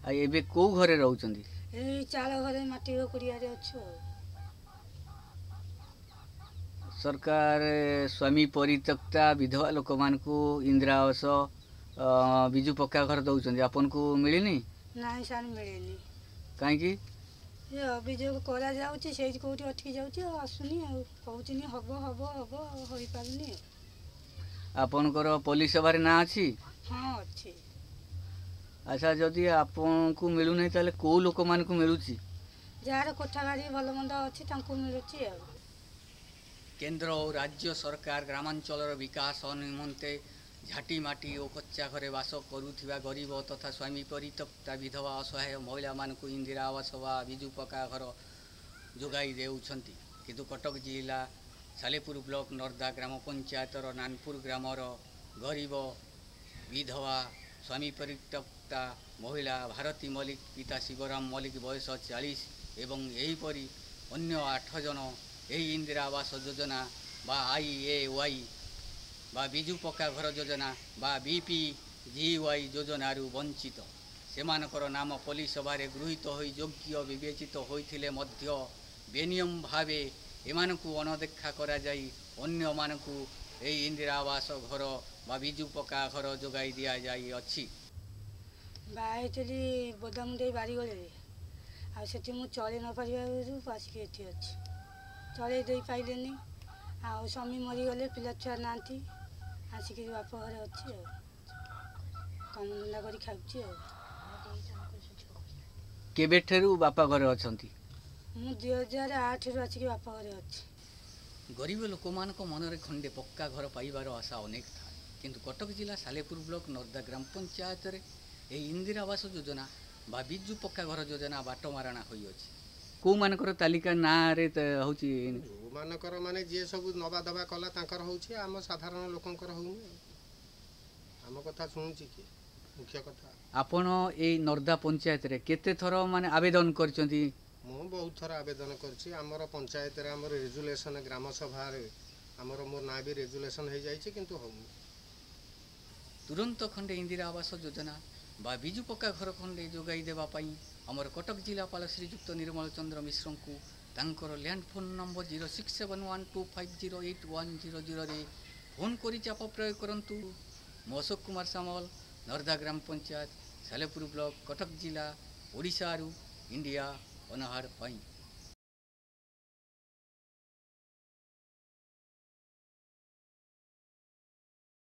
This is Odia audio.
ଆଉ ଏବେ କେଉଁ ଘରେ ରହୁଛନ୍ତି? ଏଇ ଚାଳ ଘରେ, ମାଟି କୁଡ଼ିଆରେ ଅଛୁ। ଆଉ ସରକାର ସ୍ୱାମୀ ପରିତ୍ୟକ୍ତା ବିଧବା ଲୋକମାନଙ୍କୁ ଇନ୍ଦିରା ଆବାସ, ବିଜୁ ପକ୍କା ଘର ଦେଉଛନ୍ତି, ଆପଣଙ୍କୁ ମିଳିନି? ନାଇଁ ସାର୍, ମିଳିନି। କାହିଁକି? ଏ ଅଭିଯୋଗ କରାଯାଉଛି, ସେଇଠି କେଉଁଠି ଅଟକି ଯାଉଛି ଆଉ ଆସୁନି। ଆଉ କହୁଛନ୍ତି ହବ ହବ ହବ, ଆଉ ହୋଇପାରୁନି। ଆଉ ଆପଣଙ୍କର ପୋଲିସ ସଭାରେ ନାଁ ଅଛି? ହଁ, ଅଛି। ଆଚ୍ଛା, ଯଦି ଆପଣଙ୍କୁ ମିଳୁନାହିଁ ତାହେଲେ କେଉଁ ଲୋକମାନଙ୍କୁ ମିଳୁଛି? ଯାହାର କୋଠା ବାଡ଼ି ଭଲ ମନ୍ଦ ଅଛି ତାଙ୍କୁ ମିଳୁଛି। ଆଉ କେନ୍ଦ୍ର ଓ ରାଜ୍ୟ ସରକାର ଗ୍ରାମାଞ୍ଚଳର ବିକାଶ ନିମନ୍ତେ ଝାଟିମାଟି ଓ କଚ୍ଚା ଘରେ ବାସ କରୁଥିବା ଗରିବ ତଥା ସ୍ୱାମୀ ପରିତ୍ୟକ୍ତା ବିଧବା ଅସହାୟ ମହିଳାମାନଙ୍କୁ ଇନ୍ଦିରା ଆବାସ ବା ବିଜୁ ପକ୍କା ଘର ଯୋଗାଇ ଦେଉଛନ୍ତି। କିନ୍ତୁ କଟକ ଜିଲ୍ଲା ସାଲେପୁର ବ୍ଲକ ନର୍ଦ୍ଦା ଗ୍ରାମ ପଞ୍ଚାୟତର ନାନପୁର ଗ୍ରାମର ଗରିବ ବିଧବା ସ୍ୱାମୀ ପରିତ୍ୟକ୍ତା ମହିଳା ଭାରତୀ ମଲ୍ଲିକ, ପିତା ଶିବରାମ ମଲ୍ଲିକ, ବୟସ 40, ଏବଂ ଏହିପରି ଅନ୍ୟ 8 ଜଣ ଏହି ଇନ୍ଦିରା ଆବାସ ଯୋଜନା ବା IAY ବା ବିଜୁ ପକ୍କା ଘର ଯୋଜନା ବା BPGY ଯୋଜନାରୁ ବଞ୍ଚିତ। ସେମାନଙ୍କର ନାମ ପଲ୍ଲୀ ସଭାରେ ଗୃହୀତ ହୋଇ ଯୋଗ୍ୟ ବିବେଚିତ ହୋଇଥିଲେ ମଧ୍ୟ ବେନିୟମ ଭାବେ ଏମାନଙ୍କୁ ଅଣଦେଖା କରାଯାଇ ଅନ୍ୟମାନଙ୍କୁ ଏହି ଇନ୍ଦିରା ଆବାସ ଘର ବା ବିଜୁ ପକ୍କା ଘର ଯୋଗାଇ ଦିଆଯାଇଅଛି। ବାହା ହେଇଥିଲି ବୋଦାମୁଣ୍ଡେଇ ବାରିଗୋଳିରେ, ଆଉ ସେଠି ମୁଁ ଚଳି ନ ପାରିବାରୁ ଆସିକି ଏଠି ଅଛି। ଚଳେଇ ଦେଇପାରିଲେନି, ଆଉ ସ୍ୱାମୀ ମରିଗଲେ, ପିଲା ଛୁଆ ନାହାନ୍ତି, ଆସିକି ବାପ ଘରେ ଅଛି। ଆଉ କାମ ଧନ୍ଦା କରି ଖାଉଛି। ଆଉ କେବେଠାରୁ ବାପା ଘରେ ଅଛନ୍ତି? ମୁଁ 2008ରୁ ଆସିକି ବାପ ଘରେ ଅଛି। ଗରିବ ଲୋକମାନଙ୍କ ମନରେ ଖଣ୍ଡେ ପକ୍କା ଘର ପାଇବାର ଆଶା ଅନେକ ଥାଏ। କିନ୍ତୁ କଟକ ଜିଲ୍ଲା ସାଲେପୁର ବ୍ଲକ ନର୍ଦ୍ଦା ଗ୍ରାମ ପଞ୍ଚାୟତରେ ଏହି ଇନ୍ଦିରା ଆବାସ ଯୋଜନା ବା ବିଜୁ ପକ୍କା ଘର ଯୋଜନା ବାଟମାରଣା ହୋଇଅଛି। କେଉଁମାନଙ୍କର ତାଲିକା ନାଁରେ ହେଉଛି? ଯେଉଁମାନଙ୍କର ମାନେ ଯିଏ ସବୁ ନବା ଦବା କଲା ତାଙ୍କର ହେଉଛି, ଆମ ସାଧାରଣ ଲୋକଙ୍କର ହେଉନି। ଆମ କଥା ଶୁଣୁଛି କିଏ? ମୁଖ୍ୟ କଥା। ଆପଣ ଏଇ ନର୍ଦ୍ଦା ପଞ୍ଚାୟତରେ କେତେ ଥର ମାନେ ଆବେଦନ କରିଛନ୍ତି? ମୁଁ ବହୁତ ଥର ଆବେଦନ କରିଛି। ଆମର ପଞ୍ଚାୟତରେ ଆମର ରେଜୁଲେସନ୍, ଗ୍ରାମ ସଭାରେ ଆମର ମୋ ନାଁ ବି ରେଜୁଲେସନ୍ ହେଇଯାଇଛି, କିନ୍ତୁ ହେଉନି। ତୁରନ୍ତ ଖଣ୍ଡେ ଇନ୍ଦିରା ଆବାସ ଯୋଜନା ବା ବିଜୁ ପକ୍କା ଘର ଖଣ୍ଡେ ଯୋଗାଇ ଦେବା ପାଇଁ ଆମର କଟକ ଜିଲ୍ଲାପାଳ ଶ୍ରୀଯୁକ୍ତ ନିର୍ମଳ ଚନ୍ଦ୍ର ମିଶ୍ରଙ୍କୁ ତାଙ୍କର ଲ୍ୟାଣ୍ଡ ଫୋନ୍ ନମ୍ବର 06712508100ରେ ଫୋନ୍ କରି ଚାପ ପ୍ରୟୋଗ କରନ୍ତୁ। ମୁଁ ଅଶୋକ କୁମାର ସାମଲ, ନର୍ଦ୍ଦା ଗ୍ରାମ ପଞ୍ଚାୟତ, ସାଲେପୁର ବ୍ଲକ, କଟକ ଜିଲ୍ଲା, ଓଡ଼ିଶାରୁ ଇଣ୍ଡିଆ ଅନାହାର ପାଇଁ।